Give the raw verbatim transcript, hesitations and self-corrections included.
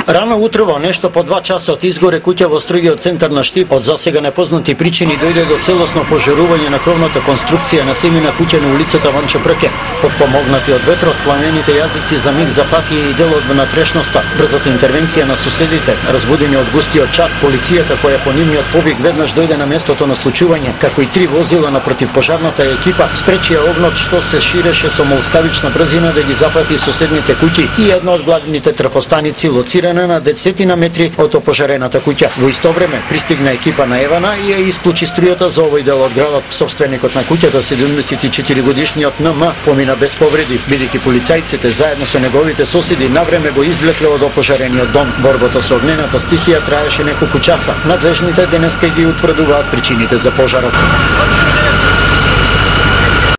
Рано утрово, нешто по два часа од изгоре куќа во строгиот центар на Штип, од засега непознати причини дојде до целосно пожарување на кровната конструкција на семина куќа на улицата Ванчо Прке. Подпомогнати од ветрот, пламените јазици за миг зафатија и дел од внатрешноста. Брзата интервенција на суседите, разбудени од густиот чад, полицијата која по нивниот повик веднаш дојде на местото на случување, како и три возила на противпожарната екипа, спречија огнот што се ширеше со молскавична брзина да ги зафати соседните куќи и една од главните трафостаници лоцирана на десетина метри од опожарената куќа. Во исто време пристигна екипа на Евана и ја исклучи струјата за овој дел од градот. Собственикот на куќата, седумдесет и четири годишниот Н М, помина без повреди, бидејќи полицајците заедно со неговите соседи навреме го извлекле од опожарениот дом. Борбата со огнената стихија траеше неколку часа. Надлежните денеска ги утврдуваат причините за пожарот.